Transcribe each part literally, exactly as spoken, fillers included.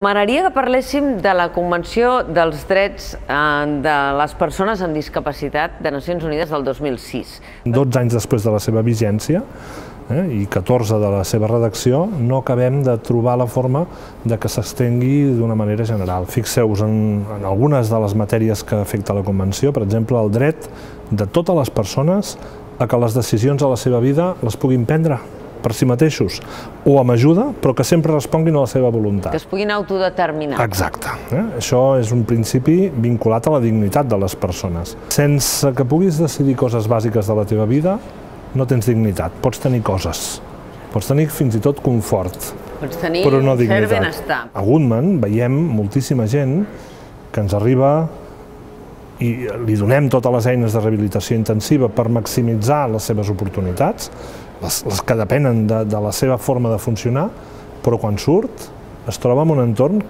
M'agradaria que parléssim de la Convenció dels Drets de les Persones amb Discapacitat de Nacions Unides del dos mil sis. dotze anys després de la seva vigència eh, i catorze de la seva redacció, no acabem de trobar la forma de que s'estengui d'una manera general. Fixeu-vos en, en algunes de les matèries que afecta la Convenció, per exemple, el dret de totes les persones a que les decisions a la seva vida les puguin prendre per si mateixos, o amb ajuda, però que sempre responguin a la seva voluntat. Que es puguin autodeterminar. Exacte. Eh? Això és un principi vinculat a la dignitat de les persones. Sense que puguis decidir coses bàsiques de la teva vida, no tens dignitat. Pots tenir coses. Pots tenir fins i tot confort, Pots tenir però no cert dignitat. benestar. A Goodman veiem moltíssima gent que ens arriba i li donem totes les eines de rehabilitació intensiva per maximitzar les seves oportunitats, les, les que depenen de, de la seva forma de funcionar, però quan surt es troba en un entorn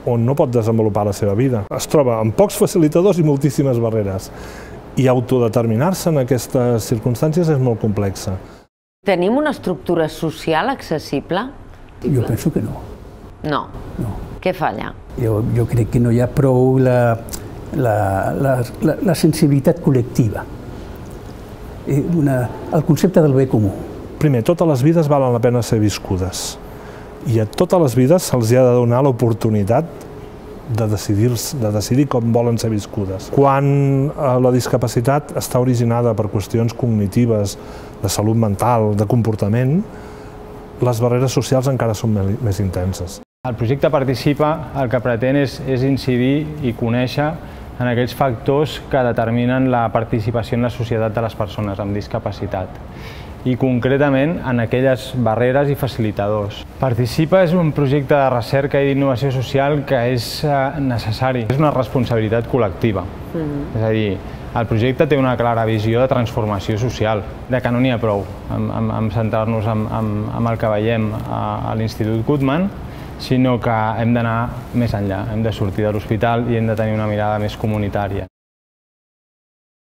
on no pot desenvolupar la seva vida. Es troba amb pocs facilitadors i moltíssimes barreres. I autodeterminar-se en aquestes circumstàncies és molt complexa. Tenim una estructura social accessible? Jo penso que no. No. No. Què falla? Jo, jo crec que no hi ha prou la, la, la, la, la sensibilitat col·lectiva. Una, el concepte del bé comú. Primer, totes les vides valen la pena ser viscudes. I a totes les vides se'ls ha de donar l'oportunitat de decidir, de decidir com volen ser viscudes. Quan la discapacitat està originada per qüestions cognitives, de salut mental, de comportament, les barreres socials encara són més intenses. El projecte Participa el que pretén és, és incidir i conèixer en aquells factors que determinen la participació en la societat de les persones amb discapacitat i concretament en aquelles barreres i facilitadors. Participa és un projecte de recerca i d'innovació social que és necessari. És una responsabilitat col·lectiva. Mm-hmm. És a dir, el projecte té una clara visió de transformació social, de que no n'hi ha prou en, en centrar-nos en, en, en el que veiem a, a l'Institut Goodman, sinó que hem d'anar més enllà, hem de sortir de l'hospital i hem de tenir una mirada més comunitària.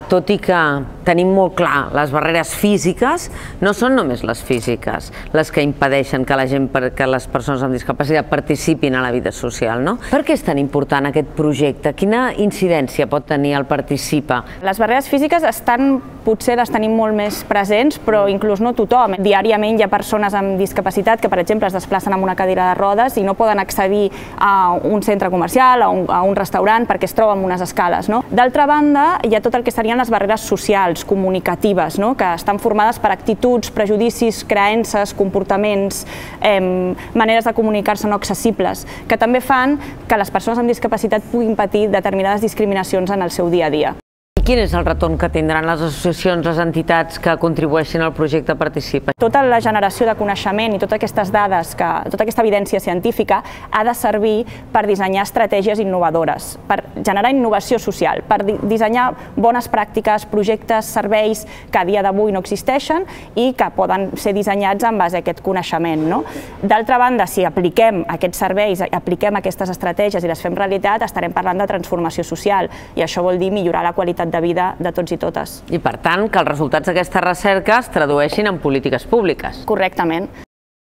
Tot i que tenim molt clar les barreres físiques, no són només les físiques les que impedeixen que la gent, que les persones amb discapacitat participin a la vida social, no? Per què és tan important aquest projecte? Quina incidència pot tenir el Participa? Les barreres físiques estan, potser les tenim molt més presents, però inclús no tothom. Diàriament hi ha persones amb discapacitat que, per exemple, es desplacen amb una cadira de rodes i no poden accedir a un centre comercial, a un, a un restaurant, perquè es troben amb unes escales, no? D'altra banda, hi ha tot el que serien les barreres socials, comunicatives, no? Que estan formades per actituds, prejudicis, creences, comportaments, eh, maneres de comunicar-se no accessibles, que també fan que les persones amb discapacitat puguin patir determinades discriminacions en el seu dia a dia. I quin és el retorn que tindran les associacions, les entitats que contribueixin al projecte Participa? Tota la generació de coneixement i totes aquestes dades, que, tota aquesta evidència científica ha de servir per dissenyar estratègies innovadores, per generar innovació social, per dissenyar bones pràctiques, projectes, serveis que a dia d'avui no existeixen i que poden ser dissenyats en base a aquest coneixement, no? D'altra banda, si apliquem aquests serveis, apliquem aquestes estratègies i les fem realitat, estarem parlant de transformació social i això vol dir millorar la qualitat de vida de tots i totes. I per tant, que els resultats d'aquesta recerca es tradueixin en polítiques públiques. Correctament.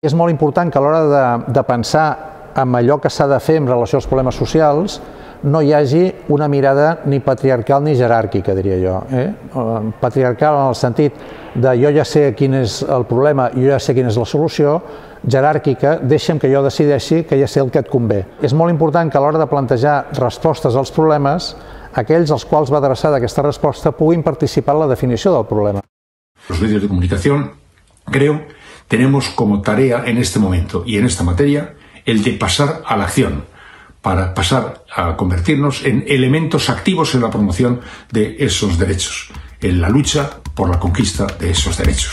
És molt important que a l'hora de, de pensar en allò que s'ha de fer en relació als problemes socials no hi hagi una mirada ni patriarcal ni jeràrquica, diria jo. Eh? Patriarcal en el sentit de jo ja sé quin és el problema, jo ja sé quina és la solució, jeràrquica, deixa'm que jo decideixi que ja sé el que et convé. És molt important que a l'hora de plantejar respostes als problemes aquells als quals va adreçada aquesta resposta puguin participar en la definició del problema. Los medios de comunicación, creo, tenemos como tarea en este momento y en esta materia el de pasar a la acción, para pasar a convertirnos en elementos activos en la promoción de esos derechos, en la lucha por la conquista de esos derechos.